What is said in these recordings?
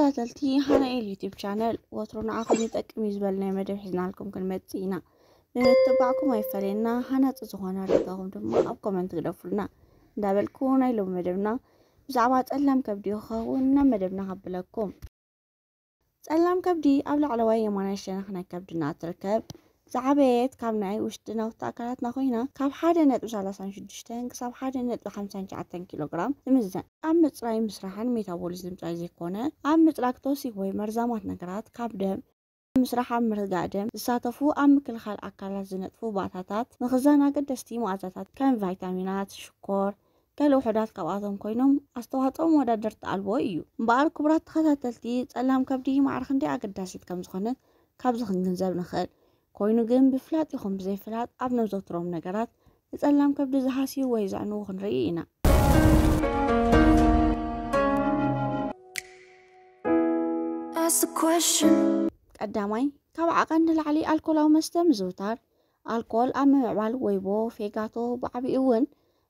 ተኸታተልቲ ሃናኤል ዩቲብ ቻነል፣ ወትሩ ንዓኹም ይጠቅም እዩ ዝበልናዮ መደብ ሒዝናልኩም ክንመጽእ ኢና። ብምትባዕኩም ኣይፈለየና። ሃናጺ ዝኾነ ርኢቶኹም ድማ ኣብ ኮመንት ግደፉልና እንዳበልኩ፣ ናይ ሎሚ መደብና ብዛዕባ ጸላም ከብዲ ክኸውን ናብ መደብና ከብለኩም። ጸላም ከብዲ ኣብ ላዕለዋይ የማናይ ሸነኽ ናይ ከብድና እትርከብ ዝዓበየት ካብ ናይ ውሽጢ ናውቲ ኣካላትና ኮይና፣ ካብ ሓደ ነጥቢ ሰላሳን ሽዱሽተን ክሳብ ሓደ ነጥቢ ሓምሳን ትሽዓተን ኪሎ ግራም ትምዘን። ኣብ ምጽራይ ምስራሕን ሜታቦሊዝም ጥራይ ዘይኮነ፣ ኣብ ምጽራግ ቶክሲክ ወይ መርዛማት ነገራት ካብ ደም ምስራሕ፣ ኣብ ምርጋእ ደም ዝሳተፉ፣ ኣብ ምክልኻል ኣካላት ዝነጥፉ ባእታታት፣ ምኽዛን ኣገደስቲ መኣዛታት ከም ቫይታሚናት፣ ሽኮር፣ ገለ ውሑዳት ካብኣቶም ኮይኖም፣ ኣስተዋጽኦም መወዳደርቲ ኣልቦ እዩ። እምበኣር ክቡራት ተኸታተልቲ፣ ጸላም ከብዲ ማዕረ ክንደይ ኣገዳሲት ከም ዝኾነት ካብዚ ክንግንዘብ ንኽእል። ኮይኑ ግን ብፍላጥ ይኹን ብዘይፍላጥ ኣብ ነዘውትሮም ነገራት ንጸላም ከብዲ ዝሃስዩ ወይ ዘዕንዉ ክንርኢ ኢና። Ask the question. ቀዳማይ፣ ካብ ዓቐን ንላዕሊ ኣልኮላዊ መስተ ምዝውታር። ኣልኮል ኣብ ምምዕባል ወይቦ፣ ፌጋቶ፣ ብዓቢኡ እውን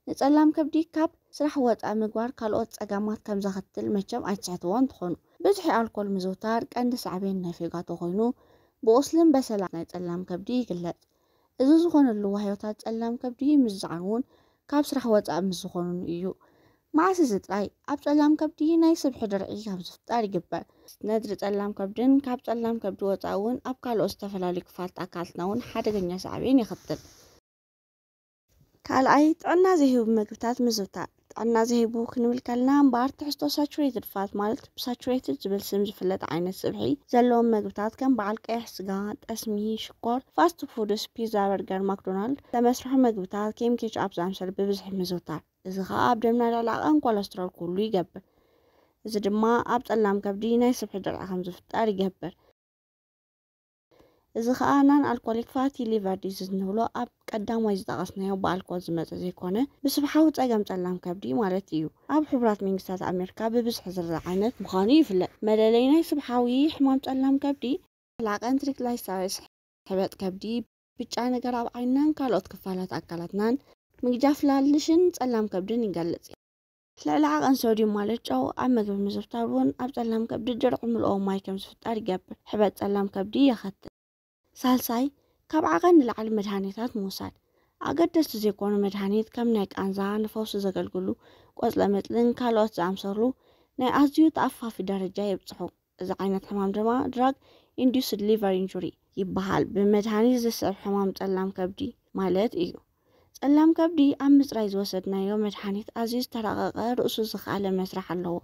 ንጸላም ከብዲ ካብ ስራሕ ወጻኢ ምግባር ካልኦት ጸገማት ከም ዘኸትል መቸም ኣይትስሕትዎን ትኾኑ። ብዝሒ ኣልኮል ምዝውታር ቀንዲ ሳዕቤን ናይ ፌጋቶ ኮይኑ፣ ብቑስልን በሰላ ናይ ጸላም ከብዲ ይግለጽ። እዚ ዝኾነሉ ዋህዮታት ጸላም ከብዲ ምስ ዝዓንዉን ካብ ስራሕ ወጻኢ ምስ ዝኾኑን እዩ። መዓስ እዚ ጥራይ ኣብ ጸላም ከብዲ ናይ ስብሒ ድርዒ ከም ዝፍጠር ይግበር። ነድሪ ጸላም ከብድን ካብ ጸላም ከብዲ ወጻኢ እውን ኣብ ካልኦት ዝተፈላለዩ ክፋላት ኣካላትና እውን ሓደገኛ ሳዕቤን የኸትል። ካልኣይ፣ ጥዕና ዘይህቡ መግብታት ምዝውታር። ጥዕና ዘይህቡ ክንብል ከለና እምበኣር ትሕዝቶ ሳቹሬትድ ፋት ማለት ብሳቹሬትድ ዝብል ስም ዝፍለጥ ዓይነት ስብሒ ዘለዎም መግብታት ከም በዓል ቀይሕ ስጋ፣ ጠስሚ፣ ሽኮር፣ ፋስት ፉድስ፣ ፒዛ፣ በርገር፣ ማክዶናልድ፣ ዝተመስርሑ መግብታት ከም ኬችኣፕ ዝኣመሰሉ ብብዝሒ ምዝውታር። እዚ ኸኣ ኣብ ደምና ልዕሊ ዓቐን ኮለስትሮል ክህሉ ይገብር። እዚ ድማ ኣብ ጸላም ከብዲ ናይ ስብሒ ድርዒ ከም ዝፍጠር ይገብር። እዚ ኸኣ ናን ኣልኮሊክ ፋቲ ሊቨር ዲዚዝ እንብሎ ኣብ ቀዳማይ ዝጠቐስናዮ ብኣልኮል ዝመጸ ዘይኮነ ብስብሓዊ ጸገም ጸላም ከብዲ ማለት እዩ። ኣብ ሕቡራት መንግስታት ኣሜሪካ ብብዝሒ ዝርኣ ዓይነት ምዃኑ ይፍለጥ። መለለይ ናይ ስብሓዊ ሕማም ጸላም ከብዲ፣ ላቐን ትሪግላይሰራይድስ፣ ሕበጥ ከብዲ፣ ብጫ ነገር ኣብ ዓይንናን ካልኦት ክፋላት ኣካላትናን፣ ምግጃፍ ላልሽን ጸላም ከብድን ይገልጽ። ልዕሊ ዓቐን ሶድዩም ማለት ጨው ኣብ መግቢ ምዝውታር እውን ኣብ ጸላም ከብዲ ድርዒ ምልኦ ማይ ከም ዝፍጠር ይገብር። ሕበጥ ጸላም ከብዲ የኸትል። ሳልሳይ፣ ካብ ዓቐን ንላዕሊ መድሃኒታት ምውሳድ። ኣገደስቲ ዘይኮኑ መድሃኒት ከም ናይ ቃንዛ፣ ንፈውሲ ዘገልግሉ ቆጽለ መጽልን ካልኦት ዝኣምሰሉ ናይ ኣዝዩ ተኣፋፊ ደረጃ የብጽሑ። እዚ ዓይነት ሕማም ድማ ድራግ ኢንዱስድ ሊቨር ኢንጁሪ ይበሃል። ብመድሃኒት ዝስዕብ ሕማም ጸላም ከብዲ ማለት እዩ። ጸላም ከብዲ ኣብ ምጽራይ ዝወሰድናዮ መድሃኒት ኣዝዩ ዝተራቐቐ ርእሱ ዝኸኣለ መስርሕ ኣለዎ።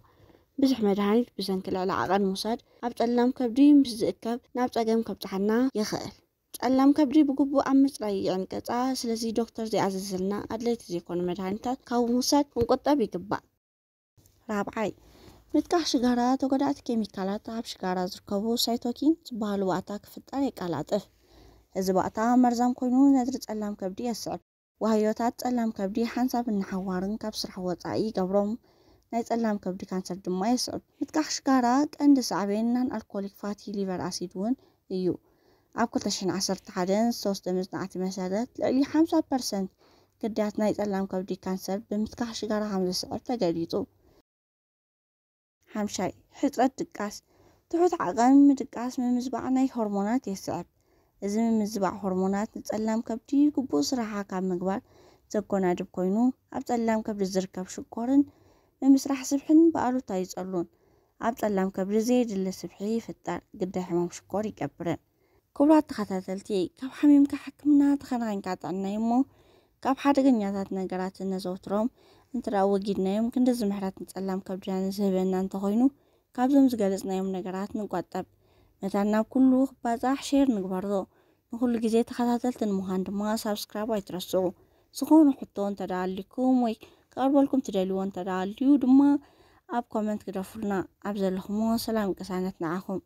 ብዙሕ መድሃኒት ብሰንኪ ልዕሊ ዓቐን ምውሳድ ኣብ ጸላም ከብዲ ምስ ዝእከብ ናብ ጸገም ከብጽሓና ይኽእል። ጸላም ከብዲ ብግቡእ ኣብ ምጽራይ ይዕንቅጻ። ስለዚ ዶክተር ዘይኣዘዘልና ኣድለይቲ ዘይኮኑ መድሃኒታት ካብ ምውሳድ ክንቁጠብ ይግባእ። ራብዓይ፣ ምትካኽ ሽጋራ ተጎዳእቲ ኬሚካላት ኣብ ሽጋራ ዝርከቡ ሳይቶኪን ዝበሃሉ ባእታ ክፍጠር የቀላጥፍ። እዚ ባእታ መርዛም ኮይኑ ነድሪ ጸላም ከብዲ የስዕብ። ዋህዮታት ጸላም ከብዲ ሓንሳብን ንሓዋርን ካብ ስራሕ ወጻኢ ይገብሮም። ናይ ጸላም ከብዲ ካንሰር ድማ የስዕብ። ምትካኽ ሽጋራ ቀንዲ ሳዕቤን ናን ኣልኮሊክ ፋቲ ሊቨር ኣሲድ እውን እዩ። ኣብ ክልተ ሽሕን ዓሰርተ ሓደን ዝተወስደ መጽናዕቲ መሰረት ልዕሊ ሓምሳ ፐርሰንት ግዳያት ናይ ጸላም ከብዲ ካንሰር ብምትካኽ ሽጋራ ከም ዘስዕብ ተገሊጹ። ሓምሻይ፣ ሕጽረት ድቃስ። ትሑት ዓቐን ምድቃስ ምምዝባዕ ናይ ሆርሞናት የስዕብ። እዚ ምምዝባዕ ሆርሞናት ንጸላም ከብዲ ግቡእ ስራሓ ካብ ምግባር ዘጎናድብ ኮይኑ፣ ኣብ ጸላም ከብዲ ዝርከብ ሽኮርን ምምስራሕ ስብሕን ብኣሉታ ይጸሉን ኣብ ጸላም ከብዲ ዘየድሊ ስብሒ ይፍጠር፣ ግዳይ ሕማም ሽኮር ይገብርን። ክቡራት ተኸታተልቲ፣ ካብ ሓሚምካ ሕክምና ተኸናኺንካ ጥዕና እዩ እሞ፣ ካብ ሓደገኛታት ነገራት እነዘውትሮም እንተ ደኣ ወጊድናዮም፣ ክንድዚ ምሕረት ንጸላም ከብድና ንዝህበና እንተኾይኑ፣ ካብዞም ዝገለጽናዮም ነገራት ንቆጠብ። መታን ናብ ኩሉ ክባጻሕ ሼር ንግበሮ። ንኹሉ ግዜ ተኸታተልቲ ንምዃን ድማ ሳብስክራይብ ኣይትረስዑ። ዝኾነ ሕቶ እንተ ደኣ ኣሊኩም ወይ ክቐርበልኩም ትደልይዎ እንተ ደኣ ኣልዩ ድማ ኣብ ኮመንት ግደፉልና። ኣብ ዘለኹሞ ሰላም ቅሳነት ንዓኹም።